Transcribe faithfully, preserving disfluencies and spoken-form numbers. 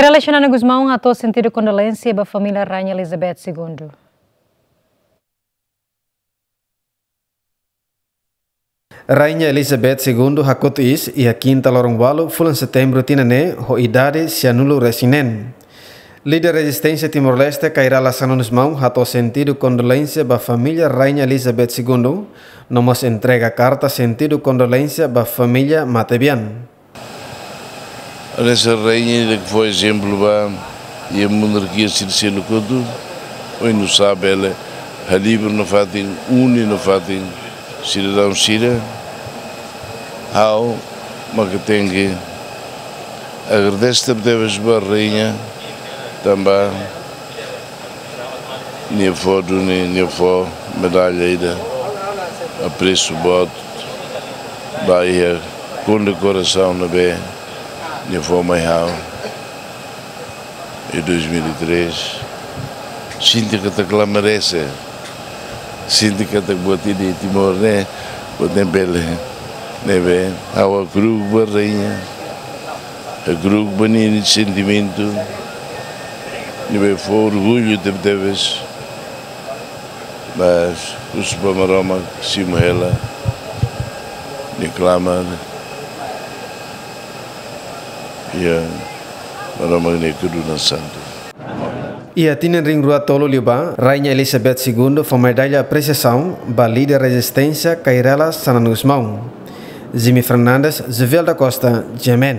Xanana Gusmão hato'o sentidu kondolénsia ba família Rainha Elizabeth Segundo. Rainha Elizabeth Segundo hakotu iis iha kinta loron ualu fulan Setembru tinan ne'e ho idade sianulu resin neen. Líder rezisténsia Timor-Leste Kay Rala Xanana Gusmão hato'o sentidu kondolénsia ba família Rainha Elizabeth Segundo, no mós entrega karta sentidu kondolénsia ba família matebian. Hanesan rainha ida ke fó ezemplu ba iha monarkia sira seluk hotu, oinsá bele halibur nafatin, uni nafatin sidadaun sira. Ha'u maka tenke agradese tebetebes ba rainha, tanba nia fó duni, nia fó medalla ida apresu boot ba iha kondekorasaun ne'ebé nia fó mai ha'u iha dois mil e três. Sente katak la merese, sente katak buat ida iha Timor ne'e, buat ne'e bele, ne'ebé ha'u hakru'uk ba rainha, hakru'uk ba nia sentimentu, ne'ebé fó orgullu tebetebes. Mas husu ba Maromak simu hela nia klamar, ya, Maromak nia kedunan santu. Iha tinan rihun rua tolu liubá, Rainha Elizabeth Segundo fó medalla apresiasaun ba líder rezisténsia Kay Rala Xanana Gusmão. Jimmy Fernandes, Jovel da Costa, G M N.